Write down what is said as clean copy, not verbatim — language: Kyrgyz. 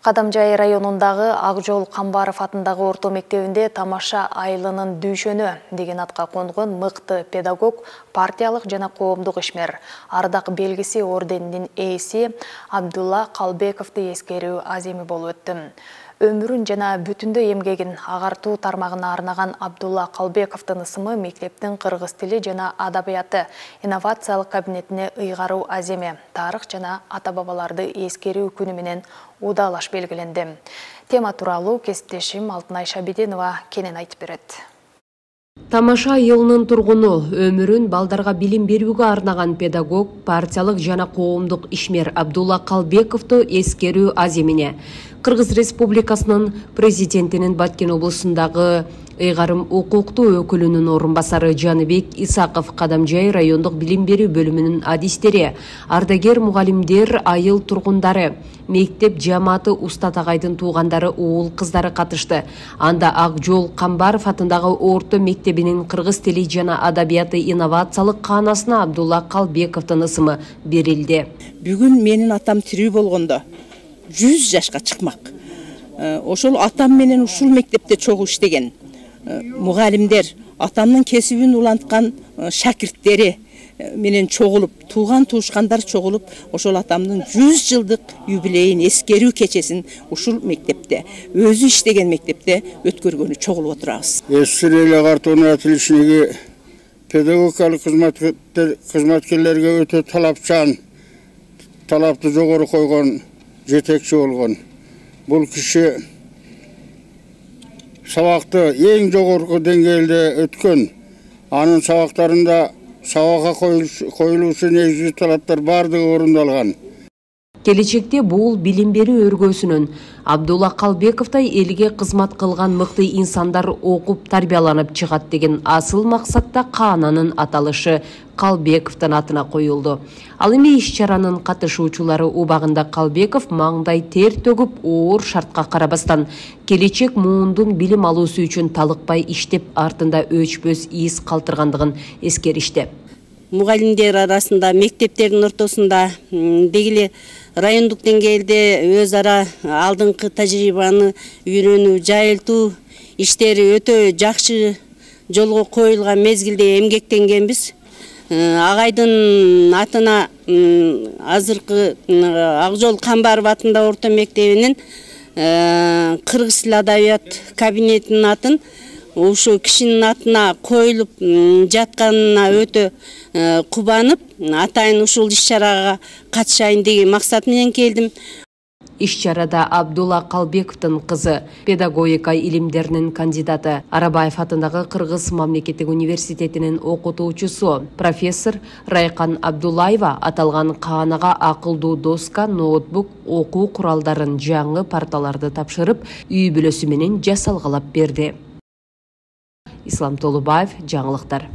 Кадамжай районундагы Акжол Камбаров атындагы орто мектебинде тамаша айылынын дүйшөнү деген атка конгон мыкты педагог, партиялык жана коомдук ишмер, ардак белгиси орденинин ээси Абдулла Калбековду эскерүү аземи болуп өттү. Өмүрүн жана бүтүндөй эмгегин агартуу тармагына арнаган Абдулла Калбековдун ысымы мектептин кыргыз тили жана адабияты инновациялык кабинетине ыйгаруу аземи, тарых жана ата-бабаларды эскерүү күнү менен удалаш белгиленди. Тема тууралуу кесиптешим Алтынай Шабидинова кенен айтып берет. Тамаша айылынын тургуну, өмүрүн балдарга билим берүүгө арнаган педагог, партиялык жана коомдук ишмер Абдулла Калбековду эскерүү аземине Кыргыз Республикасынын президентинин Баткен облусундагы ыйгарым укуктуу өкүлүнүн орун басары Жаныбек Исаков, Кадамжай райондук билим берүү бөлүмүнүн адистери, ардагер мугалимдер, айыл тургундары, мектеп жамааты, уста тагайдын туугандары, уул кыздары катышты. Анда Акжол Камбаров атындагы орто мектебинин кыргыз тили жана адабияты инновациялык каанасына Абдулла Калбековдун ысымы берилди. Бүгүн менин атам тирүү болгондо 100 жашка чыкмак. Ошол атам менен ушул мектепте чогуу иштеген мугалимдер, атамдын кесибин уланткан шакирттери менен чогулуп, тууган туушкандар чогулуп, ошол атамдын 100 жылдык юбилейин эскерүү кечесин ушул мектепте, өзү иштеген мектепте өткөргөнү чогулуп отурабыз. Эсреле агартууну атилишиги педагогикалык кызматкерлерге өтө талапчан, талапты жогору койгон жетекчи болгон. Бул киши сабакты эң жогорку деңгээлде өткөн. Анын сабактарында сабакка коюлуучу негизги талаптар бардыгы орундалган. Келечекте бул билим берүү өргөсүнөн Абдулла Калбековдай элге кызмат кылган мыкты инсандар окуп тарбияланып чыгат деген асыл максатта каананын аталышы Калбековдун атына коюлду. Ал эми иш-чаранын катышуучулары убагында Калбеков маңдай тер төгүп, оор шартка карабастан келечек муундун билим алуусу үчүн талыкпай иштеп, артында өчпөс из калтыргандыгын эскеришти. Мугалимдер арасында, мектептердин ортосунда дегиле райондук деңгээлде өз ара алдыңкы тажрыйбаны үйрөнүү, жайылтуу иштери өтө жакшы жолго коюлган мезгилде эмгектенгенбиз. Агайдын атына азыркы Акжол Камбаров атында орто мектебинин кыргыз тили адабият кабинетинин атын ошо кишинин атына коюлуп жатканына өтө кубанып, атайын ушул иш-чарага катышайын деген максат менен келдим. Иш-чарада Абдулла Калбековдун кызы, педагогика илимдеринин кандидаты, Арабаев атындагы Кыргыз мамлекеттик университетинин окутуучусу, профессор Райкан Абдуллаева аталган каанага акылдуу доска, ноутбук, окуу куралдарын, жаңы парталарды тапшырып, үй бүлөсү менен жасалгалап берди. Ислам Толубаев, жаңылыктар.